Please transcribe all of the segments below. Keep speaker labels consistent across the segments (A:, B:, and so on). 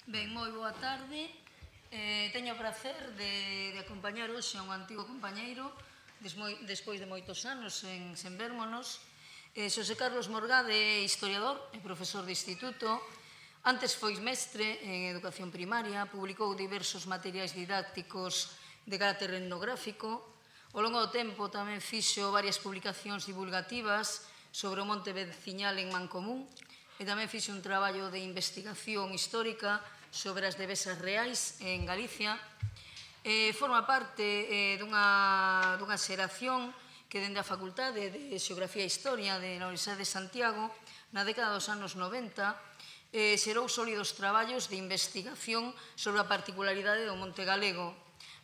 A: Ben, moi boa tarde. Teño o prazer de acompañar hoxe a un antigo compañeiro despois de moitos anos sen vérmonos. Xosé Carlos Morgade é historiador e profesor de instituto. Antes foi mestre en educación primaria, publicou diversos materiais didácticos de carácter etnográfico. Ao longo do tempo tamén fixo varias publicacións divulgativas sobre o monte veciñal en Mancomún e tamén fixo un traballo de investigación histórica sobre as devesas reais en Galicia. Forma parte dunha xeración que dende a Facultade de Xeografía e Historia da Universidade de Santiago, na década dos anos 90, xerou sólidos traballos de investigación sobre a particularidade do Monte Galego.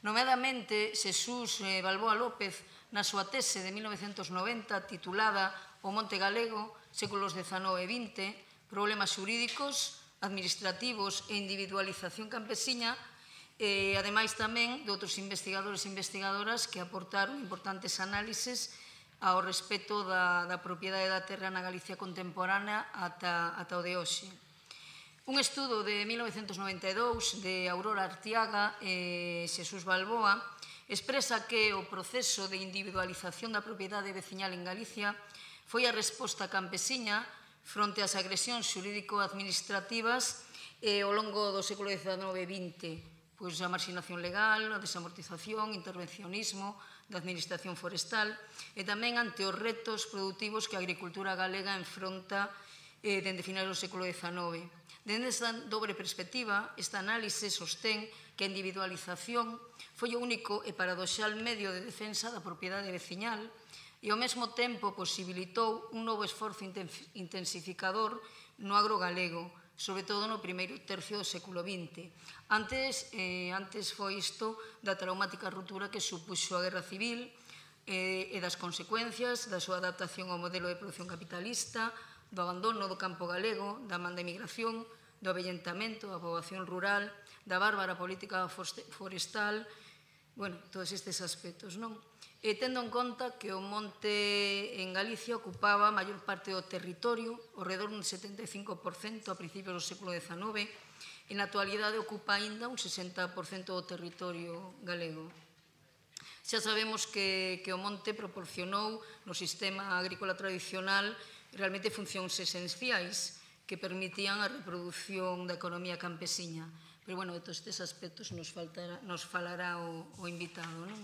A: Nomeadamente, Xesús Balboa López, na súa tese de 1990 titulada O Monte Galego, séculos XIX e XX, problemas xurídicos, administrativos e individualización campesiña, ademais tamén de outros investigadores e investigadoras que aportaron importantes análises ao respecto da propiedade da terra na Galicia contemporánea ata o de hoxe. Un estudo de 1992 de Aurora Artiaga e Xesús Balboa expresa que o proceso de individualización da propiedade veciñal en Galicia foi a resposta campesiña fronte ás agresións xurídico-administrativas ao longo do século XIX e XX, pois a marxinación legal, a desamortización, intervencionismo da administración forestal e tamén ante os retos productivos que a agricultura galega enfronta dende finais do século XIX. Dende esta dobre perspectiva, esta análise sostén que a individualización foi o único e paradoxal medio de defensa da propiedade veciñal e ao mesmo tempo posibilitou un novo esforzo intensificador no agro galego, sobre todo no primeiro tercio do século XX. Antes foi isto da traumática ruptura que supuxo a Guerra Civil e das consecuencias da súa adaptación ao modelo de produción capitalista, do abandono do campo galego, da man da emigración, do avellentamento da poboación rural, da bárbara política forestal, todos estes aspectos, non? E tendo en conta que o monte en Galicia ocupaba a maior parte do territorio, ao redor dun 75% a principios do século XIX, e na actualidade ocupa aínda un 60% do territorio galego. Xa sabemos que o monte proporcionou no sistema agrícola tradicional realmente funcións esenciais que permitían a reproducción da economía campesiña. Pero, de todos estes aspectos nos falará o invitado, non?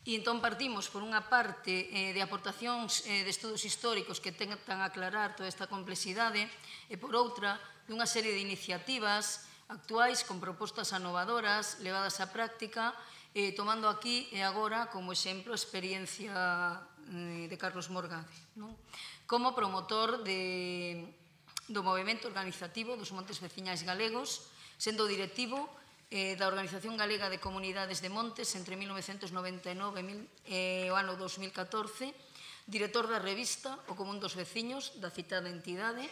A: E entón partimos, por unha parte, de aportacións de estudos históricos que tentan aclarar toda esta complexidade e, por outra, dunha serie de iniciativas actuais con propostas anovadoras levadas á práctica, tomando aquí e agora como exemplo a experiencia de Carlos Morgade, como promotor do movimento organizativo dos montes veciñais galegos, sendo directivo da Organización Galega de Comunidades de Montes entre 1999 e o ano 2014, director da revista O Común dos Veciños da citada entidade,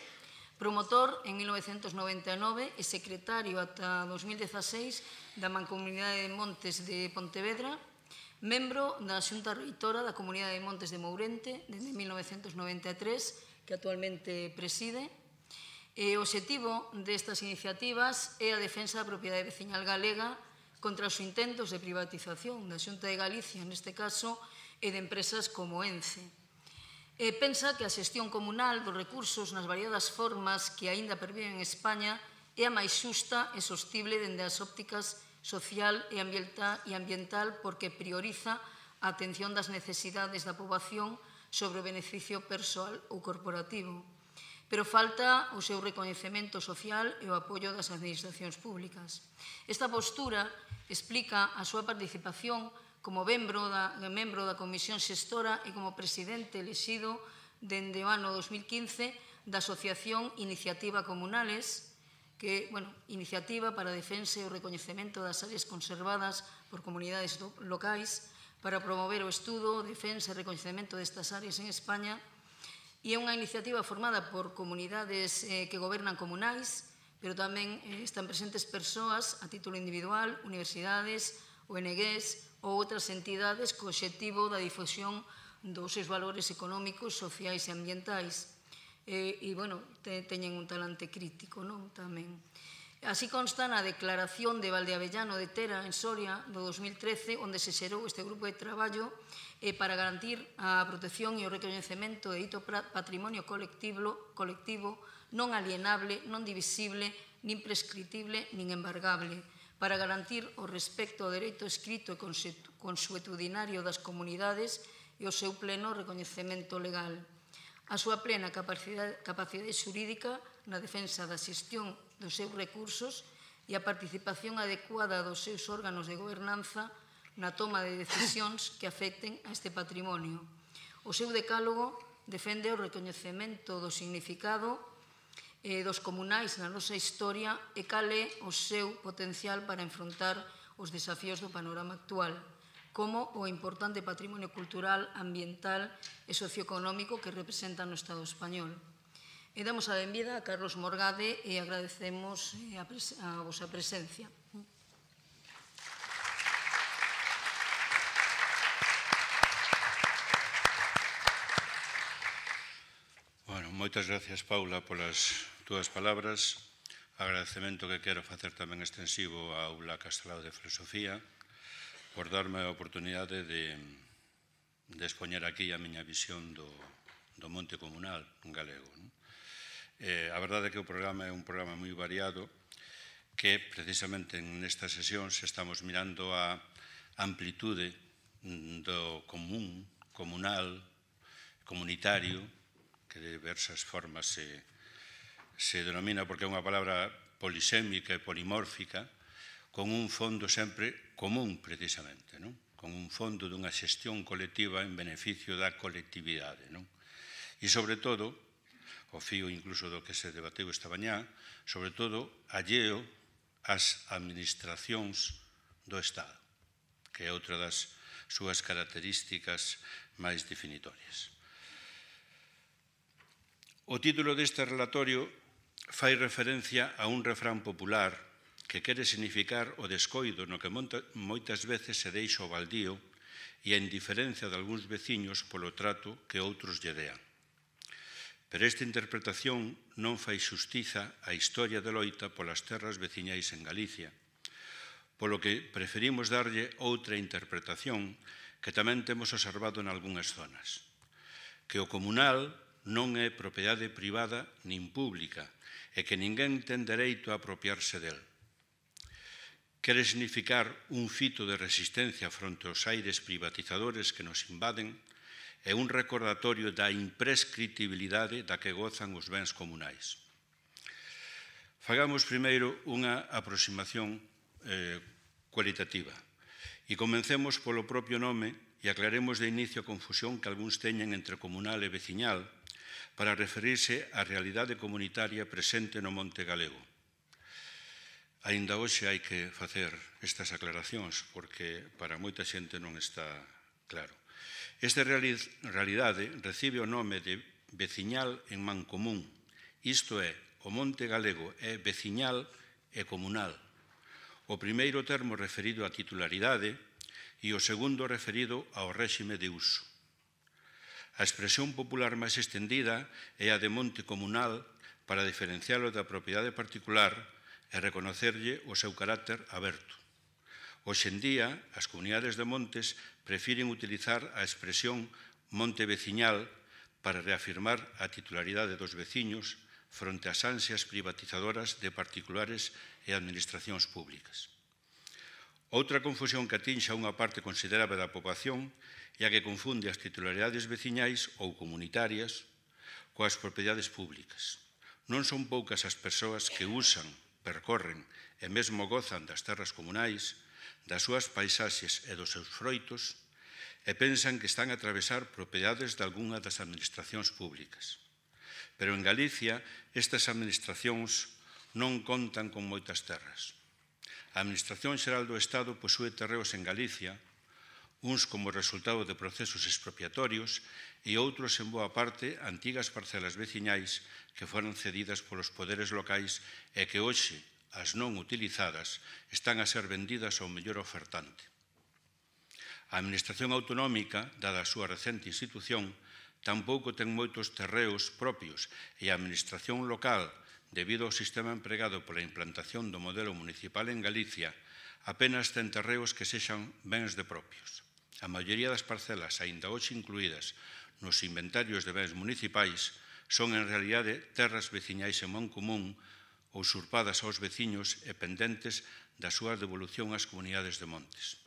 A: promotor en 1999 e secretario ata 2016 da Mancomunidade de Montes de Pontevedra, membro da Xunta Reitora da Comunidade de Montes de Mourente desde 1993, que actualmente preside. O obxectivo destas iniciativas é a defensa da propiedade veciñal galega contra os intentos de privatización da Xunta de Galicia, neste caso, e de empresas como Ence. Pensa que a xestión comunal dos recursos nas variadas formas que aínda perviven en España é a máis xusta e sostible dende as ópticas social e ambiental porque prioriza a atención das necesidades da poboación sobre o beneficio persoal ou corporativo. Pero falta o seu recoñecemento social e o apoio das administracións públicas. Esta postura explica a súa participación como membro da Comisión Xestora e como presidente elexido dende o ano 2015 da Asociación Iniciativa Comunales, que é iniciativa para a defensa e o recoñecemento das áreas conservadas por comunidades locais para promover o estudo, defensa e recoñecemento destas áreas en España. E é unha iniciativa formada por comunidades que gobernan comunais, pero tamén están presentes persoas a título individual, universidades, ONGs ou outras entidades co obxectivo da difusión dos seus valores económicos, sociais e ambientais. E, teñen un talante crítico, non? Tamén. Así consta na declaración de Valdeavellano de Tera, en Soria, do 2013, onde se xerou este grupo de traballo para garantir a protección e o recoñecemento de dito patrimonio colectivo non alienable, non divisible, nin prescriptible, nin embargable, para garantir o respecto ao dereito escrito e consuetudinario das comunidades e o seu pleno recoñecemento legal. A súa plena capacidade xurídica na defensa da xestión dos seus recursos e a participación adecuada dos seus órganos de gobernanza na toma de decisións que afecten a este patrimonio. O seu decálogo defende o recoñecemento do significado dos comunais na nosa historia e cal é o seu potencial para enfrontar os desafíos do panorama actual, como o importante patrimonio cultural, ambiental e socioeconómico que representa no Estado español. E damos a benvida a Carlos Morgade e agradecemos a vosa presencia.
B: Bueno, moitas gracias, Paula, polas túas palabras. Agradecemento que quero facer tamén extensivo á Aula Castelao de Filosofía por darme a oportunidade de expoñer aquí a miña visión do monte comunal galego. A verdade é que o programa é un programa moi variado que precisamente nestas sesións estamos mirando a amplitude do común, comunal, comunitario, que de diversas formas se denomina porque é unha palabra polisémica e polimórfica, con un fondo sempre común precisamente, con un fondo dunha xestión colectiva en beneficio da colectividade. E sobre todo, o fío incluso do que se debateu esta mañá, sobre todo alleo ás administracións do Estado, que é outra das súas características máis definitorias. O título deste relatorio fai referencia a un refrán popular que quere significar o descoido no que moitas veces se deixa o baldío e a indiferencia de algúns veciños polo trato que outros lle dean. Pero esta interpretación non fai xustiza á historia de loita polas terras veciñais en Galicia, polo que preferimos darlle outra interpretación que tamén temos observado en algunhas zonas, que o comunal non é propiedade privada nin pública e que ninguén ten dereito a apropiarse del. Quere significar un fito de resistencia fronte aos aires privatizadores que nos invaden e un recordatorio da imprescriptibilidade da que gozan os bens comunais. Fagamos primeiro unha aproximación cualitativa e comencemos polo propio nome e aclaremos de inicio a confusión que algúns teñen entre comunal e veciñal para referirse á realidade comunitaria presente no monte galego. Aínda hoxe hai que facer estas aclaracións porque para moita xente non está claro. Esta realidade recibe o nome de veciñal en mancomún, isto é, o monte galego é veciñal e comunal. O primeiro termo referido á titularidade e o segundo referido ao réxime de uso. A expresión popular máis extendida é a de monte comunal para diferenciálo da propiedade particular e reconocerlle o seu carácter aberto. Hoxe en día, as comunidades de montes prefiren utilizar a expresión monte veciñal para reafirmar a titularidade dos veciños fronte ás ansias privatizadoras de particulares e administracións públicas. Outra confusión que atinxa unha parte considerable da poboación é a que confunde as titularidades veciñais ou comunitarias coas propiedades públicas. Non son poucas as persoas que usan, percorren e mesmo gozan das terras comunais, das súas paisaxes e dos seus froitos e pensan que están a atravesar propiedades de algunha das administracións públicas. Pero en Galicia estas administracións non contan con moitas terras. A Administración Xeral do Estado posúe terreos en Galicia, uns como resultado de procesos expropiatorios e outros en boa parte antigas parcelas veciñais que foron cedidas polos poderes locais e que hoxe as non utilizadas están a ser vendidas ao mellor ofertante. A Administración Autonómica, dada a súa recente institución, tampouco ten moitos terreos propios e a Administración local, debido ao sistema empregado pola implantación do modelo municipal en Galicia, apenas ten terreos que sexan bens de propios. A maioría das parcelas, aínda hoxe incluídas nos inventarios de bens municipais, son en realidade terras veciñais en mancomún ou usurpadas aos veciños e pendentes da súa devolución ás comunidades de montes.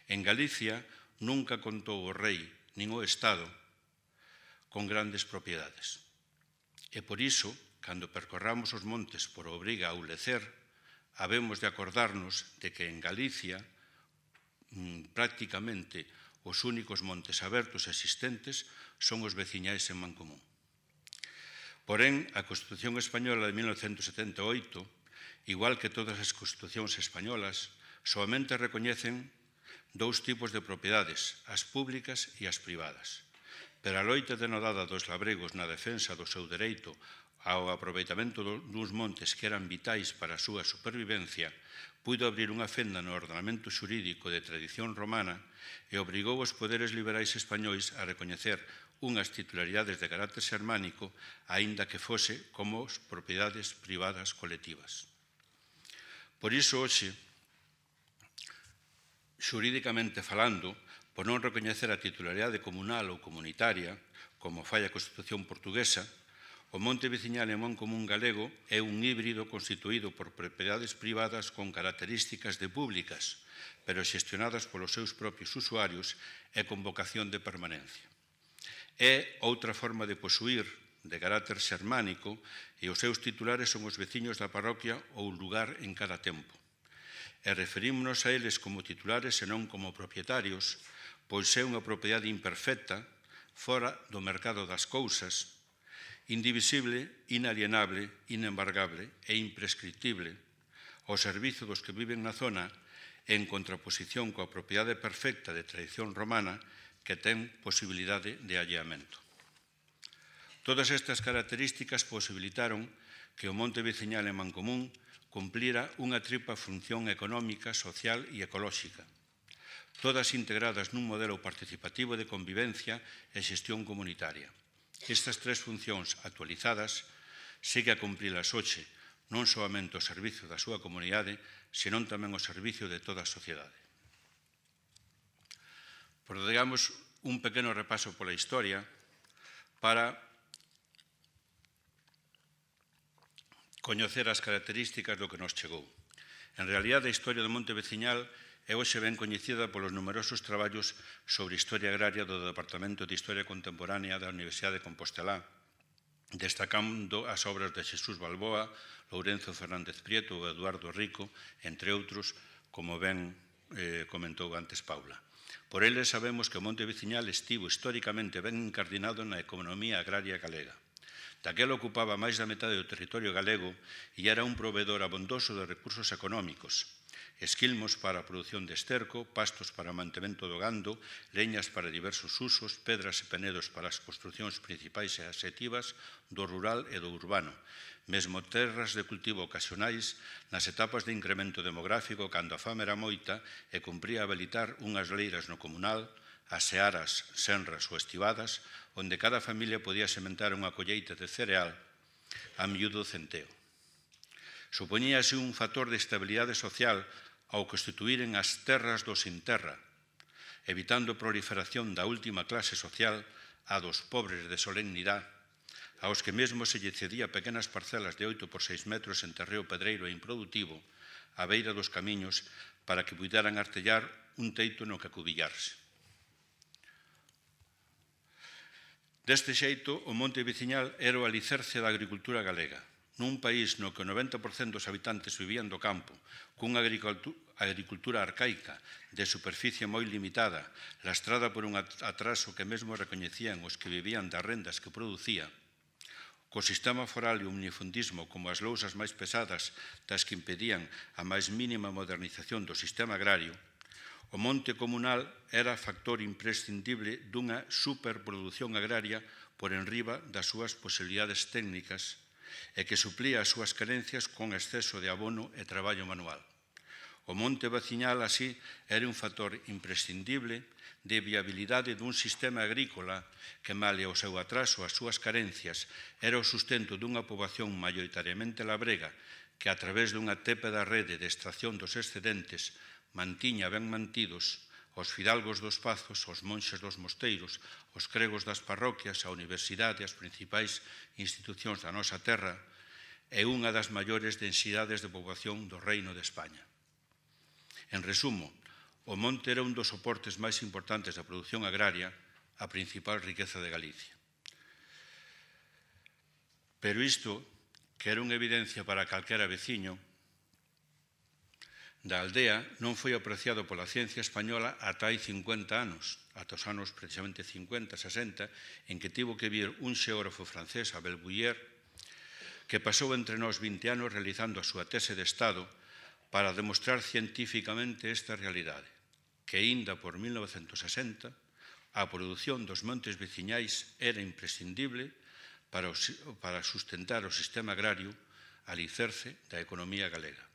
B: En Galicia nunca contou o rei nin o Estado con grandes propiedades. E por iso, cando percorramos os montes por obriga ou lecer, habemos de acordarnos de que en Galicia prácticamente os únicos montes abertos existentes son os veciñais en mancomún. Porén, a Constitución Española de 1978, igual que todas as constitucións españolas, soamente recoñecen dous tipos de propiedades, as públicas e as privadas. Pero a loita denodada dos labregos na defensa do seu dereito ao aproveitamento dos montes que eran vitais para a súa supervivencia, puido abrir unha fenda no ordenamento xurídico de tradición romana e obrigou os poderes liberais españois a recoñecer unhas titularidades de carácter xermánico, aínda que fose como propiedades privadas colectivas. Por iso, hoxe, xurídicamente falando, por non recoñecer a titularidade comunal ou comunitaria, como fai a Constitución portuguesa, o monte veciñal en mancomún galego é un híbrido constituído por propiedades privadas con características de públicas, pero xestionadas polos seus propios usuarios e con vocación de permanencia. É outra forma de posuir de carácter xermánico e os seus titulares son os veciños da parroquia ou lugar en cada tempo. E referímonos a eles como titulares e non como propietarios, pois é unha propiedade imperfecta, fora do mercado das cousas, indivisible, inalienable, inembargable e imprescriptible, ao servizo dos que viven na zona en contraposición coa propiedade perfecta de tradición romana que ten posibilidade de alleamento. Todas estas características posibilitaron que o monte veciñal en mancomún cumplira unha tripla función económica, social e ecolóxica, todas integradas nun modelo participativo de convivencia e xestión comunitaria. Estas tres funcións actualizadas segue a cumprilas hoxe, non soamente ao servicio da súa comunidade, senón tamén ao servicio de toda a sociedade. Digamos, un pequeno repaso pola historia para coñecer as características do que nos chegou. En realidade, a historia do monte veciñal é hoxe ben coñecida polos numerosos traballos sobre historia agraria do Departamento de Historia Contemporánea da Universidade de Compostelá, destacando as obras de Xesús Balboa, Lourenzo Fernández Prieto ou Eduardo Rico, entre outros, como ben comentou antes Paula. Por eles sabemos que o monte veciñal estivo históricamente ben incardinado na economía agraria galega. Daquela ocupaba máis da metade do territorio galego e era un proveedor abondoso de recursos económicos. Esquilmos para a produción de esterco, pastos para o mantemento do gando, leñas para diversos usos, pedras e penedos para as construcións principais e asextivas do rural e do urbano, mesmo terras de cultivo ocasionais nas etapas de incremento demográfico cando a fame era moita e cumpría habilitar unhas leiras no comunal, as searas, senras ou estivadas, onde cada familia podía sementar unha colleita de cereal a miúdo centeo. Supoñíase un factor de estabilidade social ao constituíren as terras do sin terra, evitando a proliferación da última clase social, a dos pobres de solemnidade, aos que mesmo se lle cedía pequenas parcelas de 8 por 6 metros en terreo pedreiro e improdutivo, á beira dos camiños, para que puideran artellar un teito no que acubillarse. Deste xeito, o monte veciñal era o alicerce da agricultura galega. Nun país no que o 90% dos habitantes vivían do campo, cunha agricultura arcaica, de superficie moi limitada, lastrada por un atraso que mesmo recoñecían os que vivían das rendas que producía, co sistema foral e o minifundismo como as lousas máis pesadas das que impedían a máis mínima modernización do sistema agrario, o monte comunal era factor imprescindible dunha superproducción agraria por enriba das súas posibilidades técnicas e que suplía as súas carencias con exceso de abono e traballo manual. O monte veciñal, así, era un factor imprescindible de viabilidade dun sistema agrícola que, male ao seu atraso, as súas carencias, era o sustento dunha poboación maioritariamente labrega que, a través dunha tépeda rede de extracción dos excedentes, mantiña ben mantidos os fidalgos dos pazos, os monxes dos mosteiros, os cregos das parroquias, a universidade e as principais institucións da nosa terra, é unha das maiores densidades de poboación do Reino de España. En resumo, o monte era un dos soportes máis importantes da produción agraria, a principal riqueza de Galicia. Pero isto, que era unha evidencia para calquera veciño da aldea, non foi apreciado pola ciencia española ata hai 50 anos, ata os anos precisamente 50, 60, en que tivo que vir un xeógrafo francés, Abel Bouyer, que pasou entre nós 20 anos realizando a súa tese de Estado para demostrar científicamente esta realidade, que aínda por 1960 a produción dos montes veciñais era imprescindible para sustentar o sistema agrario alicerce da economía galega.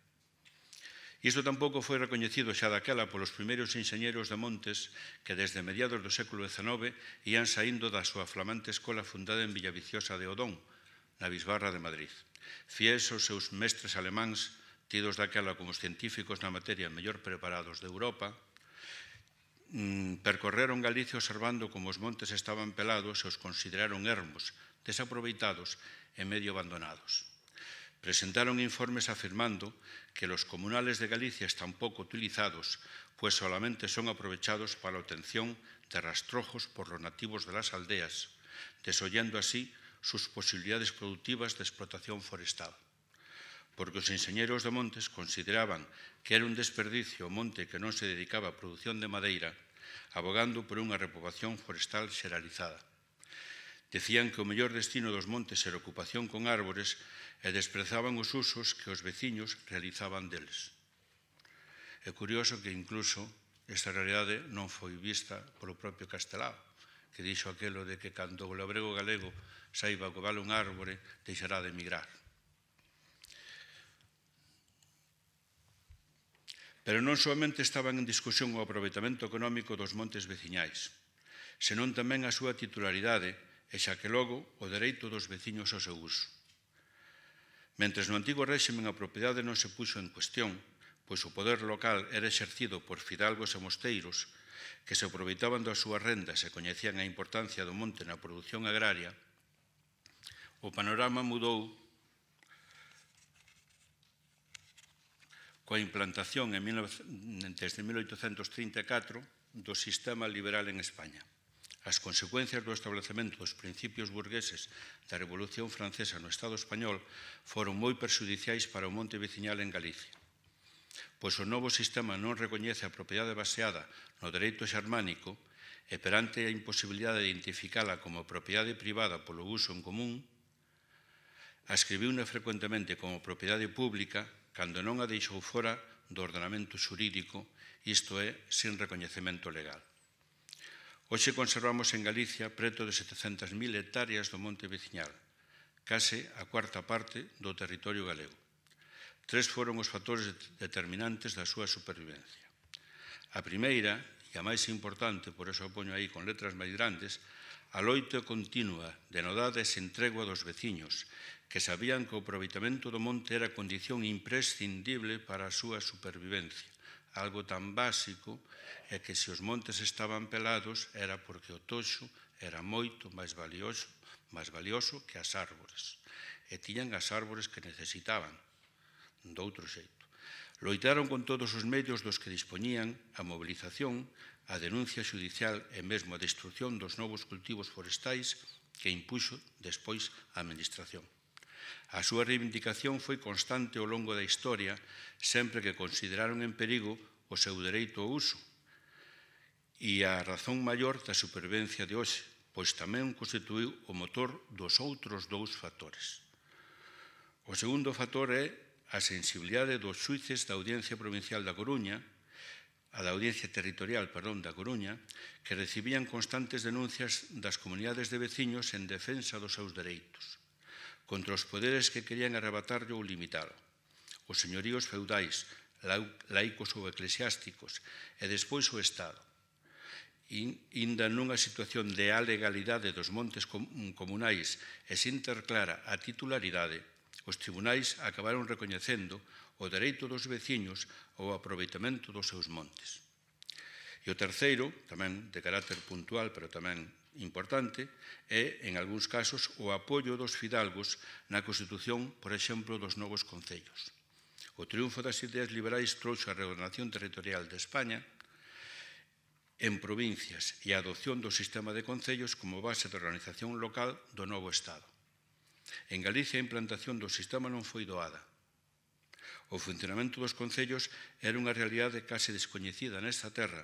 B: Isto tampouco foi recoñecido xa daquela polos primeiros enxeñeiros de montes que desde mediados do século XIX ían saindo da súa flamante escola fundada en Villaviciosa de Odón, na Bisbarra de Madrid. Fies aos seus mestres alemáns, tidos daquela como os científicos na materia mellor preparados de Europa, percorreron Galicia observando como os montes estaban pelados e os consideraron ermos, desaproveitados e medio abandonados. Presentaron informes afirmando que los comunales de Galicia están pouco utilizados, pues solamente son aprovechados para la obtención de rastrojos por los nativos de las aldeas, desollando así sus posibilidades productivas de explotación forestal. Porque os enxeñeiros de montes consideraban que era un desperdicio o monte que non se dedicaba á produción de madeira, abogando por unha repoboación forestal xeralizada. Decían que o mellor destino dos montes era ocupación con árbores e desprezaban os usos que os veciños realizaban deles. É curioso que incluso esta realidade non foi vista polo propio Castelao, que dixo aquelo de que cando o labrego galego saiba que vale un árbore, deixará de emigrar. Pero non somente estaban en discusión o aproveitamento económico dos montes veciñais, senón tamén a súa titularidade e xa que logo o dereito dos veciños ao seu uso. Mentres no antigo réximen a propiedade non se puxo en cuestión, pois o poder local era exercido por fidalgos e mosteiros que se aproveitaban das súas rendas e coñecían a importancia do monte na produción agraria, o panorama mudou coa implantación desde 1834 do sistema liberal en España. As consecuencias do establecemento dos principios burgueses da Revolución Francesa no Estado español foron moi perxudiciais para o monte veciñal en Galicia, pois o novo sistema non recoñece a propiedade baseada no dereito xermánico e perante a imposibilidade de identificala como propiedade privada polo uso en común, ascribiuna frecuentemente como propiedade pública cando non a deixou fora do ordenamento xurídico, isto é, sin recoñecemento legal. Hoxe conservamos en Galicia preto de 700.000 hectáreas do monte veciñal, case a cuarta parte do territorio galego. Tres foron os factores determinantes da súa supervivencia. A primeira, e a máis importante, por eso a poño aí con letras máis grandes, a loita continua, denodada e sen tregua dos veciños, que sabían que o aproveitamento do monte era condición imprescindible para a súa supervivencia. Algo tan básico é que se os montes estaban pelados era porque o toxo era moito máis valioso que as árbores. E tiñan as árbores que necesitaban, doutro xeito. Loitaron con todos os medios dos que dispoñían a mobilización, a denuncia xudicial e mesmo a destrucción dos novos cultivos forestais que impuxo despois a administración. A súa reivindicación foi constante ao longo da historia, sempre que consideraron en perigo o seu dereito ao uso e a razón maior da supervivencia de hoxe, pois tamén constituiu o motor dos outros dous factores. O segundo factor é a sensibilidade dos xuíces da Audiencia Provincial da Coruña, da Audiencia Territorial, da Coruña, que recibían constantes denuncias das comunidades de veciños en defensa dos seus dereitos, contra os poderes que querían arrebatarlle ou limitalo. Os señoríos feudais, laicos ou eclesiásticos, e despois o Estado. Inda nunha situación de alegalidade dos montes comunais e sin ter clara a titularidade, os tribunais acabaron recoñecendo o dereito dos veciños ao aproveitamento dos seus montes. E o terceiro, tamén de carácter puntual, pero tamén importante, é, en algúns casos, o apoio dos fidalgos na constitución, por exemplo, dos novos concellos. O triunfo das ideas liberais trouxo a reordenación territorial de España en provincias e a adopción do sistema de concellos como base de organización local do novo Estado. En Galicia, a implantación do sistema non foi doada. O funcionamento dos concellos era unha realidade case descoñecida nesta terra,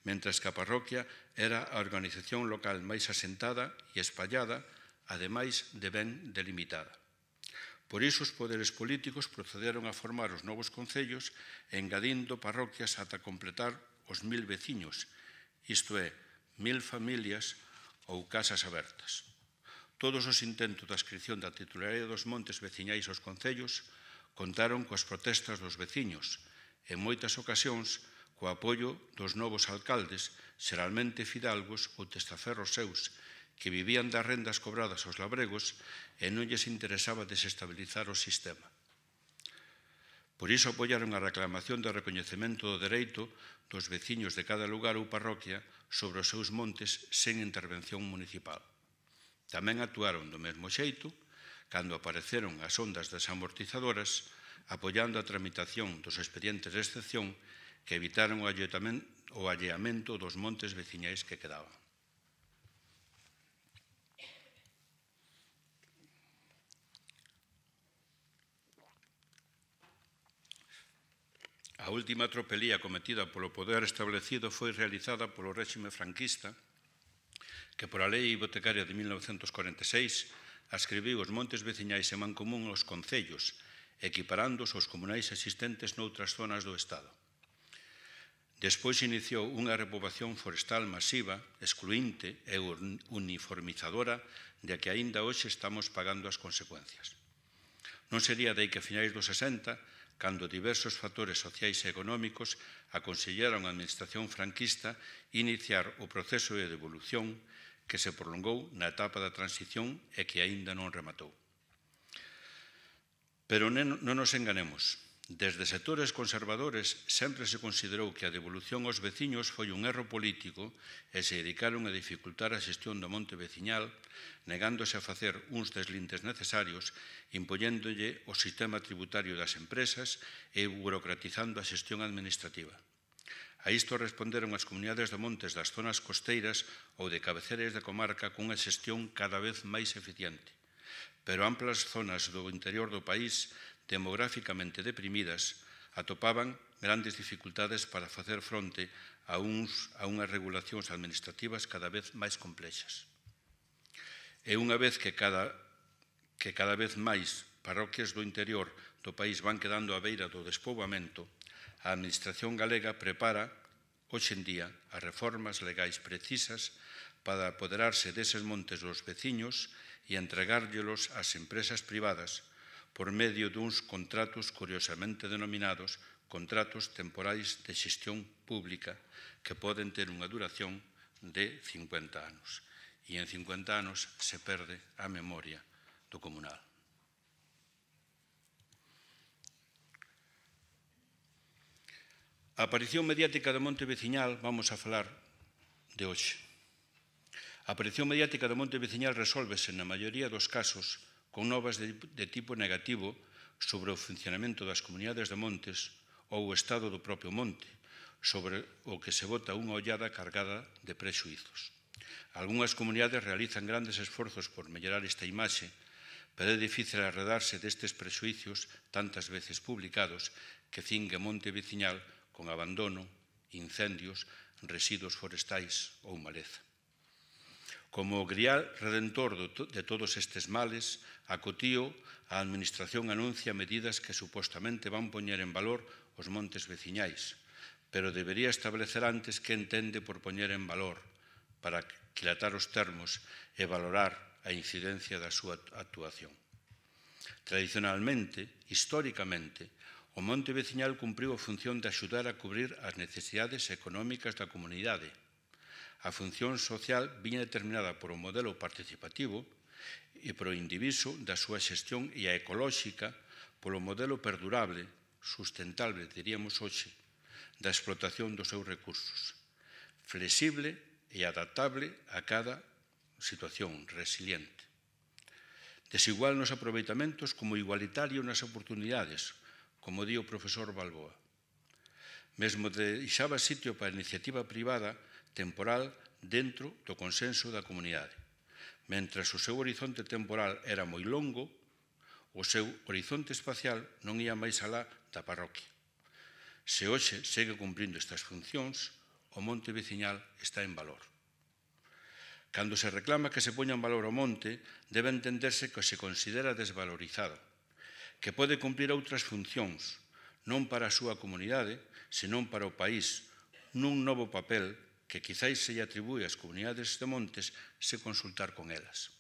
B: mentras que a parroquia era a organización local máis asentada e espallada, ademais de ben delimitada. Por iso, os poderes políticos procederon a formar os novos concellos, engadindo parroquias ata completar os 1000 veciños, isto é, 1000 familias ou casas abertas. Todos os intentos de adscripción da titularidade dos montes veciñais aos concellos contaron coas protestas dos veciños, en moitas ocasións co apoio dos novos alcaldes, xeralmente fidalgos ou testaferros seus, que vivían das rendas cobradas aos labregos e non lles interesaba desestabilizar o sistema. Por iso apoiaron a reclamación de recoñecemento do dereito dos veciños de cada lugar ou parroquia sobre os seus montes sen intervención municipal. Tamén actuaron do mesmo xeito cando apareceron as ondas desamortizadoras, apoiando a tramitación dos expedientes de excepción que evitaron o alleamento dos montes veciñais que quedaban. A última tropelía cometida polo poder establecido foi realizada polo réxime franquista, que pola lei hipotecaria de 1946 adscribiu os montes veciñais en mancomún aos concellos, equiparándoos aos comunais existentes noutras zonas do Estado. Despois iniciou unha repoboación forestal masiva, excluinte e uniformizadora de que aínda hoxe estamos pagando as consecuencias. Non sería dai que a finais dos 60, cando diversos factores sociais e económicos aconsellaron a administración franquista iniciar o proceso de devolución que se prolongou na etapa da transición e que aínda non rematou. Pero non nos enganemos. Desde sectores conservadores sempre se considerou que a devolución aos veciños foi un erro político e se dedicaron a dificultar a xestión do monte veciñal, negándose a facer uns deslindes necesarios, impolléndolle o sistema tributario das empresas e burocratizando a xestión administrativa. A isto responderon as comunidades de montes das zonas costeiras ou de cabeceras de comarca cunha xestión cada vez máis eficiente. Pero amplas zonas do interior do país, demográficamente deprimidas, atopaban grandes dificultades para facer fronte a unhas regulacións administrativas cada vez máis complexas. E unha vez que cada vez máis parroquias do interior do país van quedando á beira do despoboamento, a Administración galega prepara, hoxe en día, as reformas legais precisas para apoderarse deses montes dos veciños e entregárllelos ás empresas privadas por medio duns contratos curiosamente denominados contratos temporais de xestión pública que poden ter unha duración de 50 anos. E en 50 anos se perde a memoria do comunal. A aparición mediática do monte veciñal vamos a falar de hoxe. A aparición mediática do monte veciñal resólvese na maioría dos casos con novas de tipo negativo sobre o funcionamento das comunidades de montes ou o estado do propio monte, sobre o que se bota unha ollada cargada de prexuízos. Algunhas comunidades realizan grandes esforzos por mellorar esta imaxe, pero é difícil arredarse destes prexuízos tantas veces publicados que cingue monte veciñal con abandono, incendios, residuos forestais ou maleza. Como o grial redentor de todos estes males, acotío, a Administración anuncia medidas que supostamente van poñer en valor os montes veciñais, pero debería establecer antes que entende por poñer en valor para quilatar os termos e valorar a incidencia da súa actuación. Tradicionalmente, históricamente, O monte veciñal cumpriu a función de axudar a cubrir as necesidades económicas da comunidade. A función social viña determinada por o modelo participativo e por o indiviso da súa xestión e a ecolóxica polo modelo perdurable, sustentable, diríamos hoxe, da explotación dos seus recursos, flexible e adaptable a cada situación, resiliente. Desigual nos aproveitamentos como igualitario nas oportunidades, como di o profesor Balboa. Mesmo deixaba sitio para a iniciativa privada temporal dentro do consenso da comunidade. Mentras o seu horizonte temporal era moi longo, o seu horizonte espacial non ia máis alá da parroquia. Se hoxe segue cumprindo estas funcións, o monte veciñal está en valor. Cando se reclama que se poña en valor o monte, debe entenderse que se considera desvalorizado, que pode cumprir outras funcións, non para a súa comunidade, senón para o país, nun novo papel que quizáis se lle atribúe ás comunidades de montes se consultar con elas.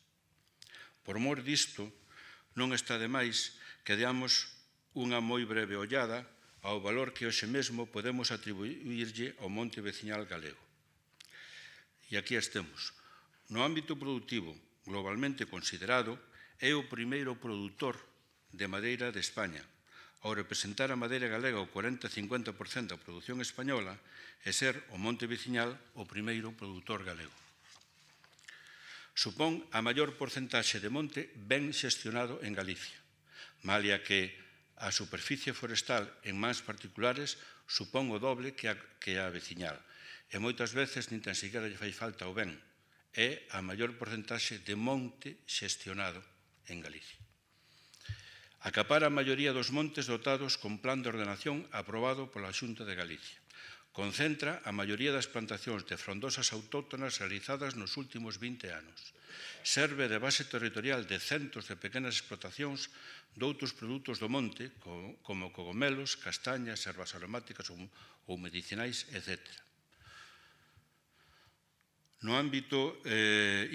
B: Por mor disto, non está de máis que deamos unha moi breve ollada ao valor que hoxe mesmo podemos atribuirlle ao monte veciñal galego. E aquí estemos. No ámbito produtivo, globalmente considerado, é o primeiro produtor de madeira de España, ao representar a madeira galega o 40-50% da produción española e ser o monte veciñal o primeiro produtor galego. Supón a maior porcentaxe de monte ben xestionado en Galicia, malia que a superficie forestal en mans particulares supón o doble que a veciñal, e moitas veces nin tan siquiera lle fai falta o ben, é a maior porcentaxe de monte xestionado en Galicia. Acapara a maioría dos montes dotados con plan de ordenación aprobado pola Xunta de Galicia. Concentra a maioría das plantacións de frondosas autóctonas realizadas nos últimos 20 anos. Serve de base territorial de centos de pequenas explotacións doutros produtos do monte, como cogomelos, castañas, ervas aromáticas ou medicinais, etc. No ámbito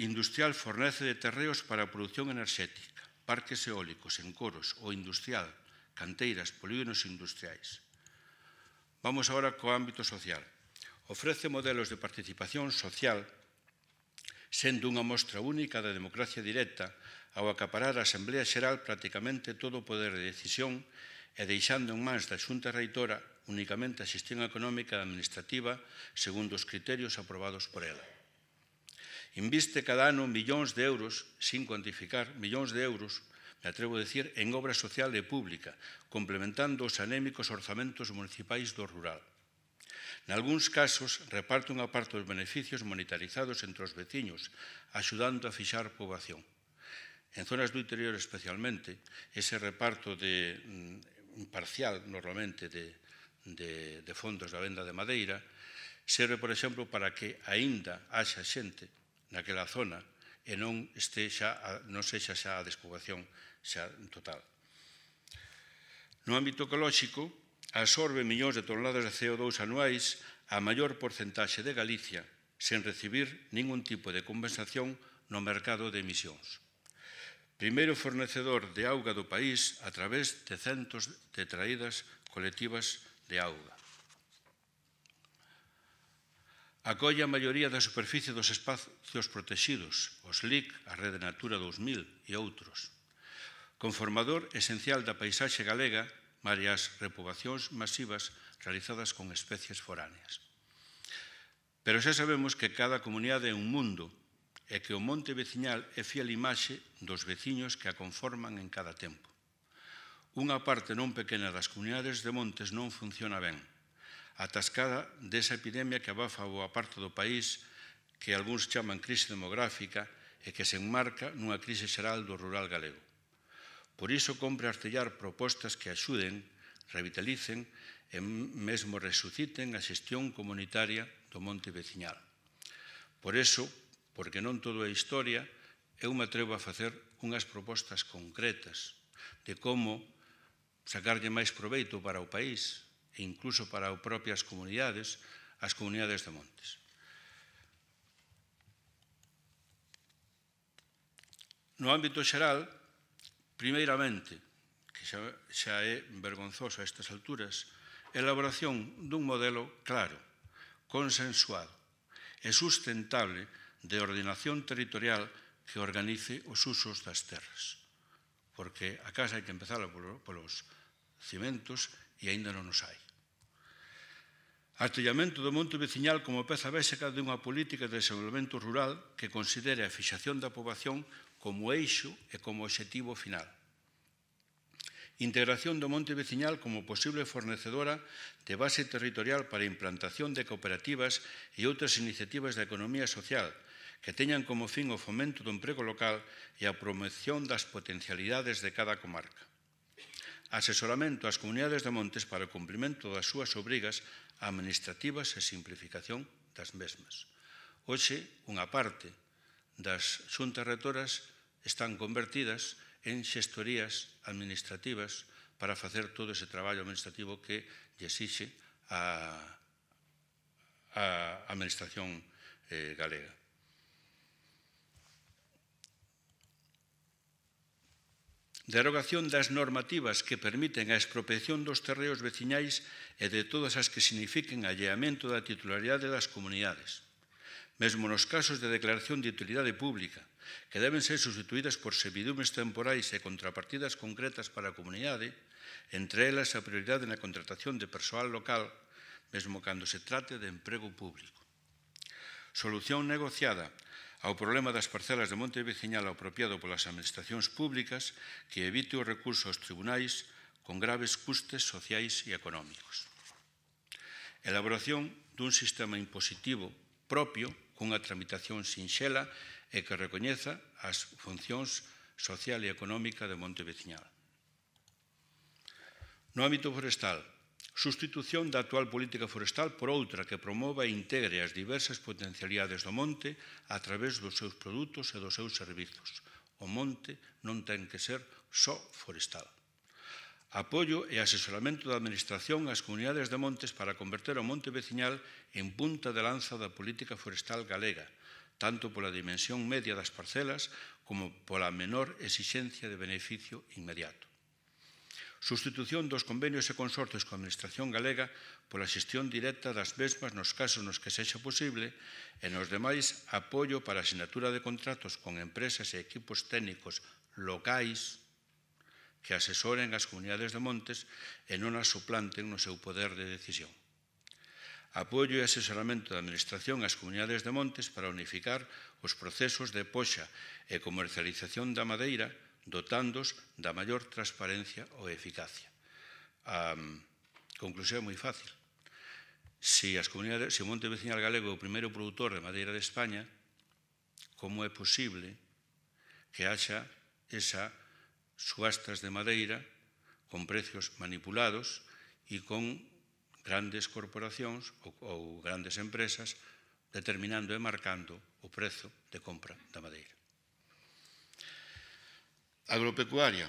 B: industrial fornece de terreos para a produción enerxética, parques eólicos, encoros, o industrial, canteiras, polígonos industriais. Vamos agora co ámbito social. Ofrece modelos de participación social sendo unha mostra única da democracia directa ao acaparar a Asamblea Xeral prácticamente todo o poder de decisión e deixando en mans da Xunta Reitora únicamente a xestión económica e administrativa segundo os criterios aprobados por ela. Inviste cada ano millóns de euros, sin cuantificar, millóns de euros, me atrevo a decir, en obra social e pública, complementando os anémicos orzamentos municipais do rural. Nalgúns casos, reparte unha parte dos beneficios monetarizados entre os veciños, axudando a fixar poboación. En zonas do interior especialmente, ese reparto imparcial, normalmente, de fondos da venda de madeira, serve, por exemplo, para que aínda haxa xente naquela zona e non sexa xa a despoboación xa total. No ámbito ecolóxico, absorbe millóns de toneladas de CO2 anuais a maior porcentaxe de Galicia sen recibir ningún tipo de compensación no mercado de emisións. Primeiro fornecedor de auga do país a través de centos de traídas colectivas de auga. Acolle a maioría da superficie dos espacios protegidos, os LIC, a Rede Natura 2000 e outros. Conformador esencial da paisaxe galega, varias repoboacións masivas realizadas con especies foráneas. Pero xa sabemos que cada comunidade é un mundo e que o monte veciñal é fiel imaxe dos veciños que a conforman en cada tempo. Unha parte non pequena das comunidades de montes non funciona ben, atascada desa epidemia que abafa boa parte do país, que algúns chaman crise demográfica e que se enmarca nunha crise xeral do rural galego. Por iso compre artellar propostas que axuden, revitalicen e mesmo resuciten a xestión comunitaria do monte veciñal. Por iso, porque non todo é historia, eu me atrevo a facer unhas propostas concretas de como sacarlle máis proveito para o país e incluso para as propias comunidades, as comunidades de montes. No ámbito xeral, primeiramente, que xa é vergonzoso a estas alturas, a elaboración dun modelo claro, consensuado e sustentable de ordenación territorial que organice os usos das terras. Porque a casa hai que empezar polos cimentos e aínda non os hai. Artellamento do monte veciñal como peza básica dunha política de desenvolvemento rural que considere a fixación da poboación como eixo e como obxectivo final. Integración do monte veciñal como posible fornecedora de base territorial para a implantación de cooperativas e outras iniciativas da economía social que teñan como fin o fomento do emprego local e a promoción das potencialidades de cada comarca. Asesoramento ás comunidades de montes para o cumprimento das súas obrigas administrativas e simplificación das mesmas. Hoxe, unha parte das xuntas rectoras están convertidas en xestorías administrativas para facer todo ese traballo administrativo que lle exixe a administración galega. Derogación das normativas que permiten a expropiación dos terreos veciñais e de todas as que signifiquen alleamento da titularidade das comunidades, mesmo nos casos de declaración de utilidade pública, que deben ser sustituídas por servidumes temporais e contrapartidas concretas para a comunidade, entre elas a prioridade na contratación de persoal local, mesmo cando se trate de emprego público. Solución negociada ao problema das parcelas de monte veciñal apropiado polas administracións públicas que evite o recurso aos tribunais con graves custes sociais e económicos. Elaboración dun sistema impositivo propio cunha tramitación sinxela e que recoñeza as funcións social e económica de monte veciñal. No ámbito forestal, sustitución da actual política forestal por outra que promova e integre as diversas potencialidades do monte a través dos seus produtos e dos seus servizos. O monte non ten que ser só forestal. Apoio e asesoramento da administración ás comunidades de montes para converter o monte veciñal en punta de lanza da política forestal galega, tanto pola dimensión media das parcelas como pola menor exixencia de beneficio inmediato. Sustitución dos convenios e consorcios coa administración galega pola xestión directa das mesmas nos casos nos que sexa posible e nos demais apoio para a sinatura de contratos con empresas e equipos técnicos locais que asesoren as comunidades de montes e non as suplanten no seu poder de decisión. Apoio e asesoramento da administración ás comunidades de montes para unificar os procesos de poxa e comercialización da madeira dotándos da maior transparencia ou eficacia. A conclusión é moi fácil. Se o monte veciñal galego é o primeiro produtor de madeira de España, como é posible que haxa esas subastas de madeira con precios manipulados e con grandes corporacións ou grandes empresas determinando e marcando o prezo de compra da madeira? Agropecuaria.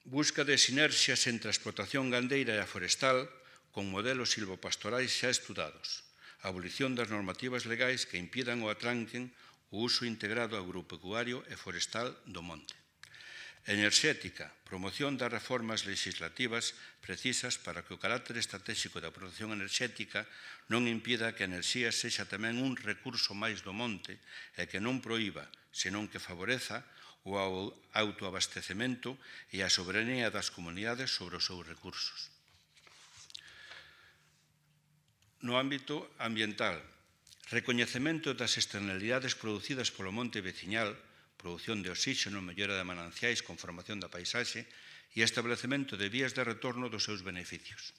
B: Busca de sinerxias entre a explotación gandeira e a forestal con modelos silvopastorais xa estudados. Abolición das normativas legais que impidan ou atranquen o uso integrado agropecuario e forestal do monte. Enerxética. Promoción das reformas legislativas precisas para que o carácter estratégico da produción enerxética non impida que a enerxía sexa tamén un recurso máis do monte e que non proíba, senón que favoreza o autoabastecemento e a soberanía das comunidades sobre os seus recursos. No ámbito ambiental, recoñecemento das externalidades producidas polo monte veciñal, produción de oxígeno, mellora de mananciais, conformación da paisaxe e establecemento de vías de retorno dos seus beneficios.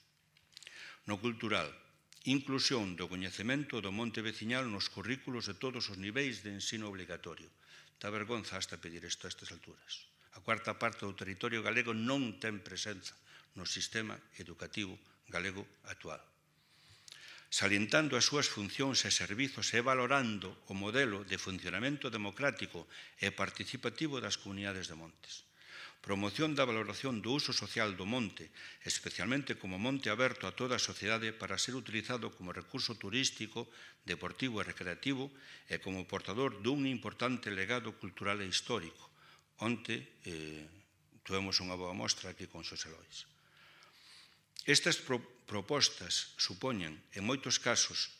B: No cultural, inclusión do coñecemento do monte veciñal nos currículos de todos os niveis de ensino obligatorio. Dá vergonza hasta pedir isto a estas alturas. A cuarta parte do territorio galego non ten presenza no sistema educativo galego actual. Salientando as súas funcións e servizos e valorando o modelo de funcionamento democrático e participativo das comunidades de montes. Promoción da valoración do uso social do monte, especialmente como monte aberto a toda a sociedade para ser utilizado como recurso turístico, deportivo e recreativo e como portador dun importante legado cultural e histórico. Onte Tuvemos unha boa mostra aquí con Xosé Lois. Estas propostas supoñen, en moitos casos,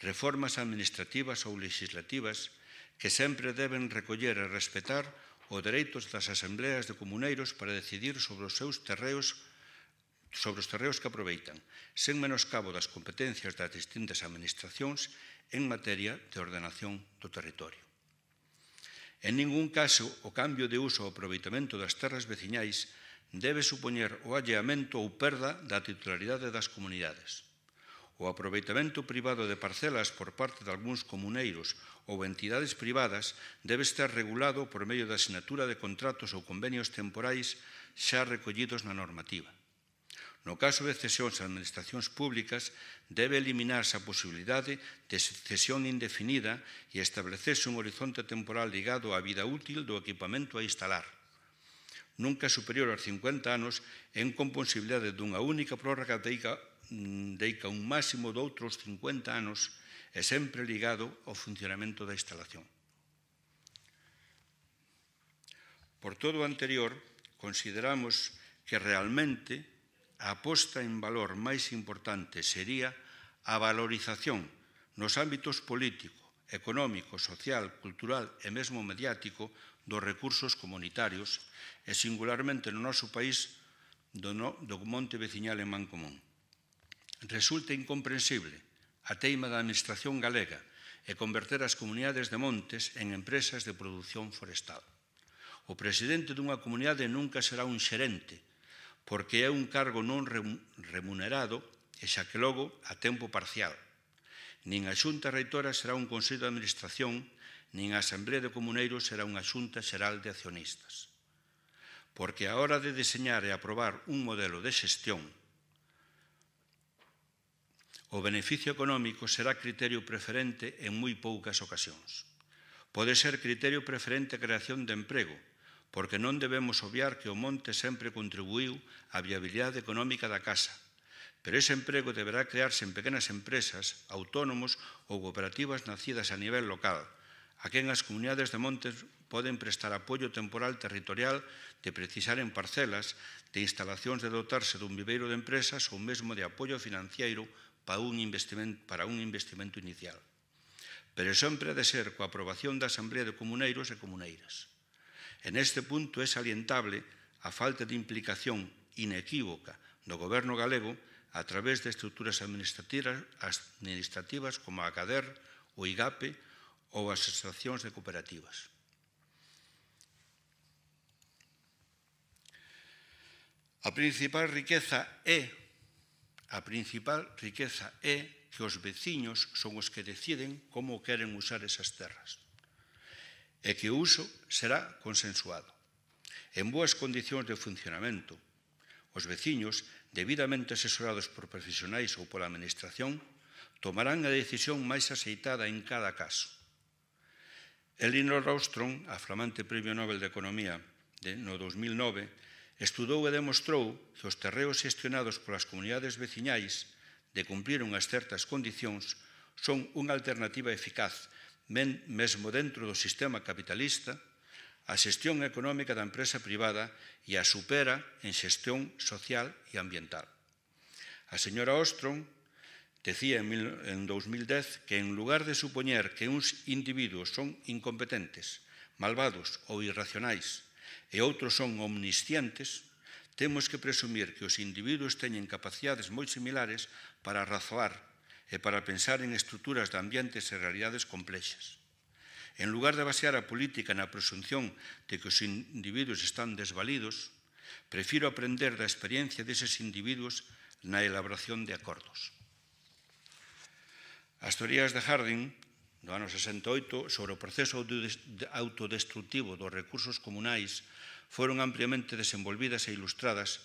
B: reformas administrativas ou legislativas que sempre deben recoller e respetar os dereitos das asambleas de comuneiros para decidir sobre os seus terreos que aproveitan, sen menoscabo das competencias das distintas administracións en materia de ordenación do territorio. En ningún caso, o cambio de uso ou aproveitamento das terras veciñais debe supoñer o alleamento ou perda da titularidade das comunidades. O aproveitamento privado de parcelas por parte de algúns comuneiros ou entidades privadas debe estar regulado por medio da asinatura de contratos ou convenios temporais xa recollidos na normativa. No caso de cesións a administracións públicas, debe eliminarse a posibilidade de cesión indefinida e establecerse un horizonte temporal ligado á vida útil do equipamento a instalar, nunca superior aos 50 anos, en con posibilidade dunha única prórroga deica un máximo de outros 50 anos e sempre ligado ao funcionamento da instalación. Por todo o anterior, consideramos que realmente a aposta en valor máis importante sería a valorización nos ámbitos político, económico, social, cultural e mesmo mediático dos recursos comunitarios e singularmente no noso país do monte veciñal en Mancomún. Resulta incomprensible a teima da administración galega e converter as comunidades de montes en empresas de produción forestal. O presidente dunha comunidade nunca será un xerente, porque é un cargo non remunerado e xa que logo a tempo parcial. Nin a xunta reitora será un consello de administración, nin a asamblea de comuneiros será unha xunta xeral de accionistas. Porque a hora de deseñar e aprobar un modelo de xestión, o beneficio económico será criterio preferente en moi poucas ocasións. Pode ser criterio preferente a creación de emprego, porque non debemos obviar que o monte sempre contribuiu á viabilidade económica da casa, pero ese emprego deberá crearse en pequenas empresas, autónomos ou cooperativas nacidas a nivel local, a quen as comunidades de montes poden prestar apoio temporal territorial de precisar en parcelas, de instalacións de dotarse dun viveiro de empresas ou mesmo de apoio financiero para un investimento inicial. Pero sempre ha de ser coa aprobación da Asamblea de Comuneiros e Comuneiras. En este punto é salientable a falta de implicación inequívoca do Goberno galego a través de estruturas administrativas como a CADER, o IGAPE ou as asociacións de cooperativas. A principal riqueza é que os veciños son os que deciden como queren usar esas terras e que o uso será consensuado. En boas condicións de funcionamento, os veciños, debidamente asesorados por profesionais ou pola administración, tomarán a decisión máis aceitada en cada caso. Elinor Ostrom, a flamante Premio Nobel de Economía no 2009, estudou e demostrou que os terreos xestionados polas comunidades veciñais de cumprir unhas certas condicións son unha alternativa eficaz mesmo dentro do sistema capitalista, a xestión económica da empresa privada e a supera en xestión social e ambiental. A señora Ostrom decía en 2010 que en lugar de supoñer que uns individuos son incompetentes, malvados ou irracionais e outros son omniscientes, temos que presumir que os individuos teñen capacidades moi similares para razoar e para pensar en estruturas de ambientes e realidades complexas. En lugar de basear a política na presunción de que os individuos están desvalidos, prefiro aprender da experiencia deses individuos na elaboración de acordos. As teorías de Harding, do ano 68, sobre o proceso autodestructivo dos recursos comunais foron ampliamente desenvolvidas e ilustradas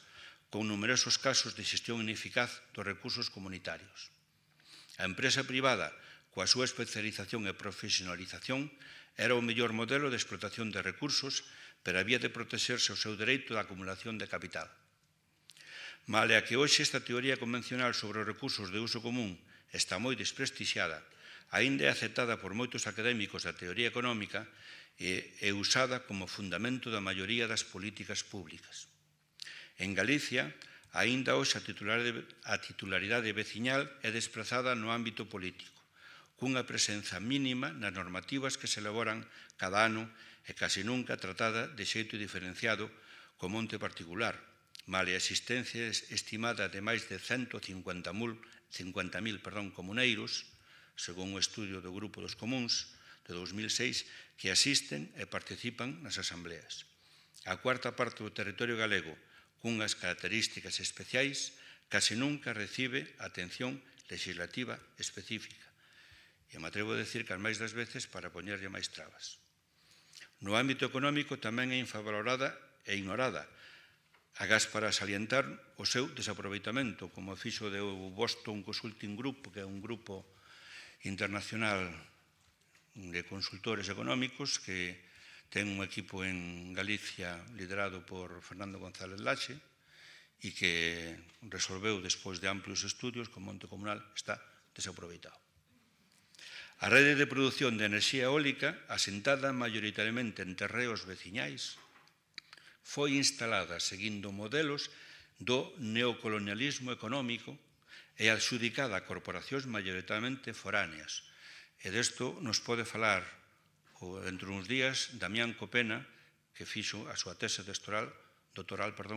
B: con numerosos casos de xestión ineficaz dos recursos comunitarios. A empresa privada, coa súa especialización e profesionalización, era o mellor modelo de explotación de recursos, pero había de protexerse o seu dereito da acumulación de capital. Male a que hoxe esta teoría convencional sobre os recursos de uso común está moi desprestixiada, aínda é aceptada por moitos académicos da teoría económica e usada como fundamento da maioría das políticas públicas. En Galicia, aínda hoxe a titularidade veciñal é desprazada no ámbito político, cunha presenza mínima nas normativas que se elaboran cada ano e casi nunca tratada de xeito diferenciado como ente particular, male a existencia estimada de máis de 150.000 comuneiros, según o estudio do Grupo dos Comuns de 2006, que asisten e participan nas asambleas. A cuarta parte do territorio galego, cunhas características especiais, casi nunca recibe atención legislativa específica. E me atrevo a decir que as máis das veces para poñerlle máis trabas. No ámbito económico tamén é infravalorada e ignorada, agás para salientar o seu desaproveitamento, como fixo o Boston Consulting Group, que é un grupo internacional de consultores económicos que ten un equipo en Galicia liderado por Fernando González Laxe e que resolveu, despois de amplios estudios, que o monte comunal está desaproveitado. A rede de produción de enerxía eólica, asentada maioritariamente en terreos veciñais, foi instalada seguindo modelos do neocolonialismo económico e adxudicada a corporacións maioritariamente foráneas. E desto nos pode falar dentro de uns días Damián Copena, que fixo a súa tese doctoral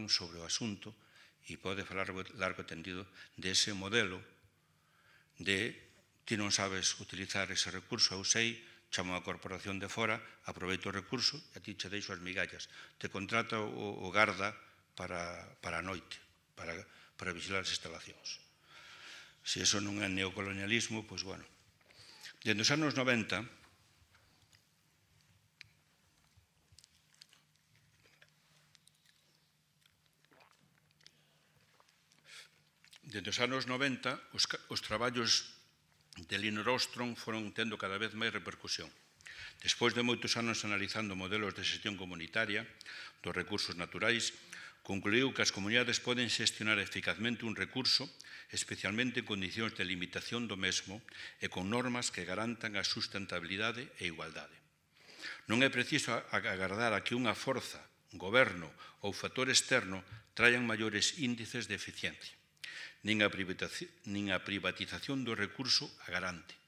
B: sobre o asunto e pode falar largo e tendido dese modelo de ti non sabes utilizar ese recurso, eu sei, chamo a corporación de fora, aproveito o recurso e a ti che deixo as migallas. Te contrata o garda para a noite, para vigilar as instalacións. Se iso non é neocolonialismo, pois, bueno. Dende os anos 90, os traballos de Elinor Ostrom foron tendo cada vez máis repercusión. Despois de moitos anos analizando modelos de xestión comunitaria dos recursos naturais, concluiu que as comunidades poden xestionar eficazmente un recurso, especialmente en condicións de limitación do mesmo e con normas que garantan a sustentabilidade e igualdade. Non é preciso agardar a que unha forza, goberno ou factor externo traian maiores índices de eficiencia. Nin a privatización do recurso a garante.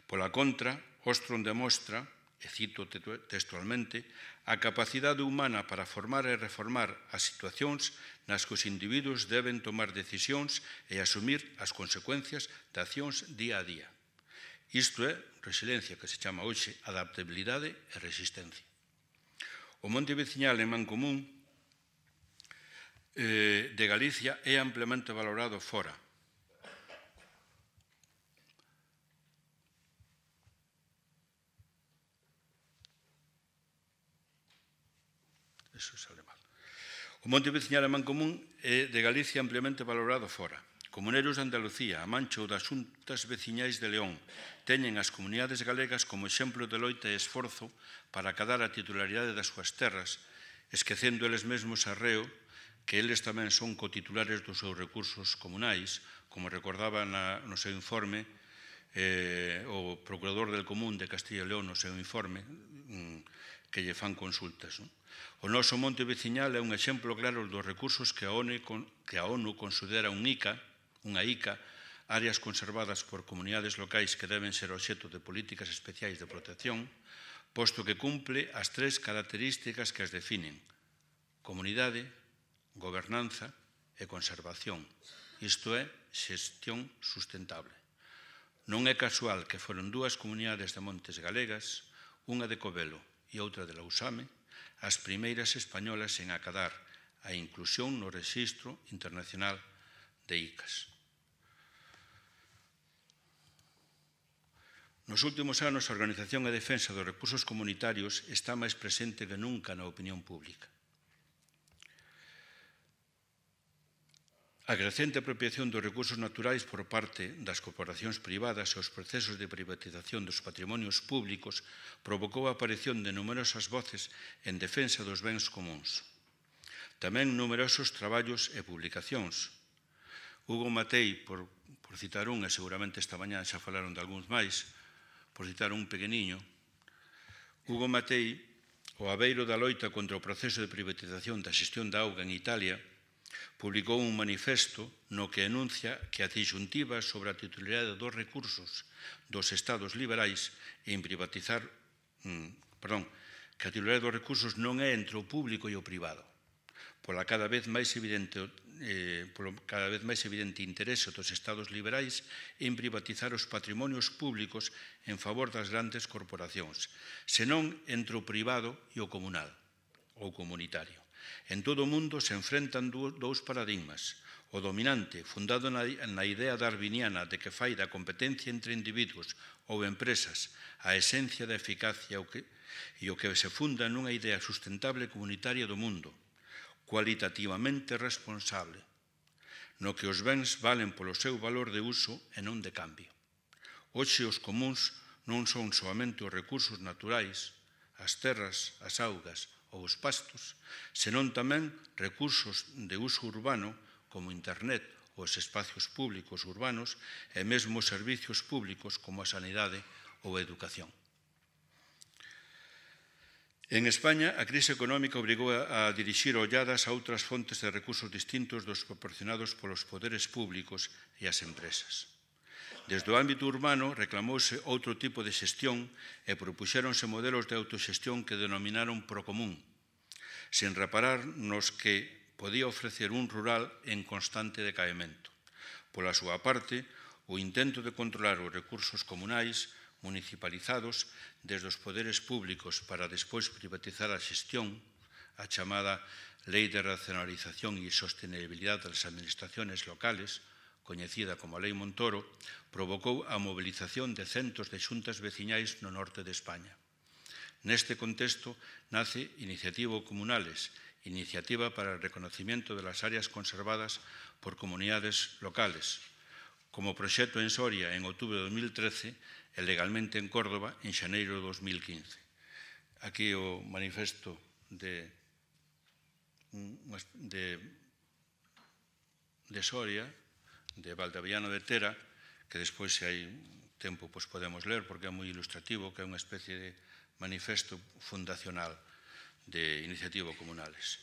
B: Pola contra, Ostrom demostra, e cito textualmente, a capacidade humana para formar e reformar as situacións nas que os individuos deben tomar decisións e asumir as consecuencias de accións día a día. Isto é resiliencia, que se chama hoxe adaptabilidade e resistencia. O monte veciñal en Mancomún de Galicia é ampliamente valorado fora. O monte veciñal en Mancomún é de Galicia ampliamente valorado fora. Comuneiros de Andalucía, a Mancha ou das xuntas veciñais de León teñen as comunidades galegas como exemplo de loita e esforzo para acadar a titularidade das súas terras, esquecendo eles mesmos arreo que eles tamén son cotitulares dos seus recursos comunais, como recordaba no seu informe o Procurador del Común de Castilla e León no seu informe, que lle fan consultas. O noso monte veciñal é un exemplo claro dos recursos que a ONU considera unha ICA, áreas conservadas por comunidades locais que deben ser obxecto de políticas especiais de protección, posto que cumple as tres características que as definen: comunidade, gobernanza e conservación. Isto é xestión sustentable. Non é casual que foron dúas comunidades de montes galegas, unha de Covelo e outra de Lousame, as primeiras españolas en acadar a inclusión no Rexistro Internacional de ICAs. Nos últimos anos, a organización e defensa dos recursos comunitarios está máis presente que nunca na opinión pública. A crecente apropiación dos recursos naturais por parte das corporacións privadas e os procesos de privatización dos patrimonios públicos provocou a aparición de numerosas voces en defensa dos bens comuns. Tamén numerosos traballos e publicacións. Hugo Matei, por por citar un, e seguramente esta mañá xa falaron de algúns máis, por citar un pequeniño, Hugo Matei, o abeiro da loita contra o proceso de privatización da xestión da auga en Italia, publicou un manifesto no que enuncia que a disyuntiva sobre a titularidade dos recursos dos estados liberais en privatizar, que a titularidade dos recursos non é entre o público e o privado, polo cada vez máis evidente interese dos estados liberais en privatizar os patrimonios públicos en favor das grandes corporacións, senón entre o privado e o comunal ou comunitario. En todo o mundo se enfrentan dous paradigmas. O dominante, fundado na idea darwiniana de que fai da competencia entre individuos ou empresas a esencia da eficacia e o que se funda nunha idea sustentable comunitaria do mundo, cualitativamente responsable, no que os bens valen polo seu valor de uso e non de cambio. Hoxe os comuns non son soamente os recursos naturais, as terras, as augas ou os pastos, senón tamén recursos de uso urbano como internet, os espacios públicos urbanos e mesmo os servicios públicos como a sanidade ou a educación. En España, a crise económica obrigou a dirixir olladas a outras fontes de recursos distintos dos proporcionados polos poderes públicos e as empresas. Desde o ámbito urbano reclamouse outro tipo de xestión e propuxéronse modelos de autoxestión que denominaron procomún, sen reparar nos que podía ofrecer un rural en constante decaemento. Pola súa parte, o intento de controlar os recursos comunais municipalizados desde os poderes públicos para despois privatizar a xestión, a chamada Lei de Racionalización e Sostenibilidade das Administraciones Locales, coñecida como a Lei Montoro, provocou a mobilización de centos de xuntas veciñais no norte de España. Neste contexto nace Iniciativa Comunales, Iniciativa para el Reconocimiento de las Áreas Conservadas por Comunidades Locales, como proxecto en Soria en outubro de 2013 e legalmente en Córdoba en xaneiro de 2015. Aquí o manifesto de Soria, de Valdeavellano de Tera, que despois, se hai tempo, podemos ler, porque é moi ilustrativo, que é unha especie de manifesto fundacional de Iniciativa Comunales.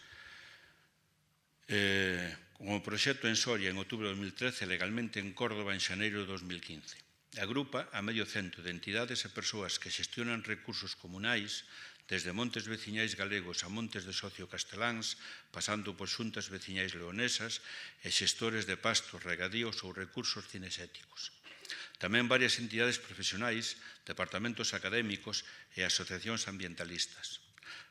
B: Como proxecto en Soria en outubro de 2013, legalmente en Córdoba en xaneiro de 2015. Agrupa a medio cento de entidades e persoas que xestionan recursos comunais, desde montes veciñais galegos a montes de socio casteláns, pasando por xuntas veciñais leonesas e xestores de pastos, regadíos ou recursos cinexéticos. Tamén varias entidades profesionais, departamentos académicos e asociacións ambientalistas.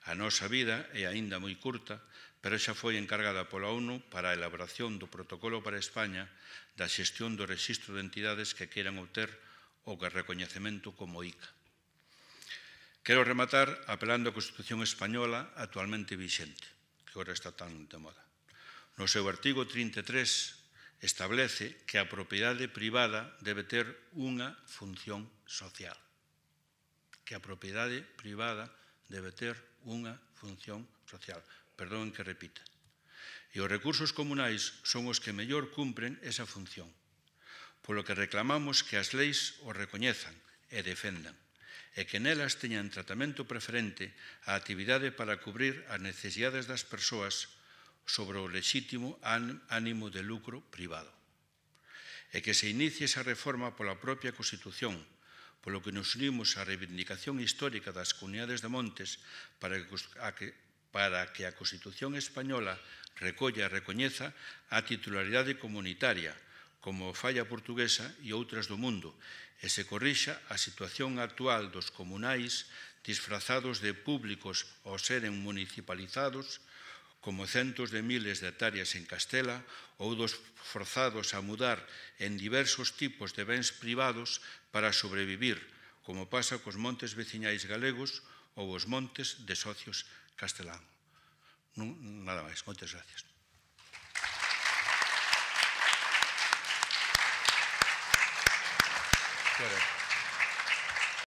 B: A nosa vida é aínda moi curta, pero xa foi encargada pola ONU para a elaboración do protocolo para España da xestión do rexistro de entidades que queiran obter o recoñecemento como ICA. Quero rematar apelando á Constitución española actualmente vixente, que agora está tan de moda. No seu artigo 33 establece que a propiedade privada debe ter unha función social. Que a propiedade privada debe ter unha función social. Perdón que repita. E os recursos comunais son os que mellor cumpren esa función, polo que reclamamos que as leis os recoñezan e defendan, e que nelas teñan tratamento preferente a actividade para cubrir as necesidades das persoas sobre o lexítimo ánimo de lucro privado. E que se inicie esa reforma pola propia Constitución, polo que nos unimos á reivindicación histórica das comunidades de montes para que a Constitución española recolla e recoñeza a titularidade comunitaria, como fai a portuguesa e outras do mundo, e se corrixa a situación actual dos comunais disfrazados de públicos ao seren municipalizados, como centos de miles de hectáreas en Castela, ou dos forzados a mudar en diversos tipos de bens privados para sobrevivir, como pasa cos montes veciñais galegos ou os montes de socios castelán. Nada máis. Moitas gracias. Claro.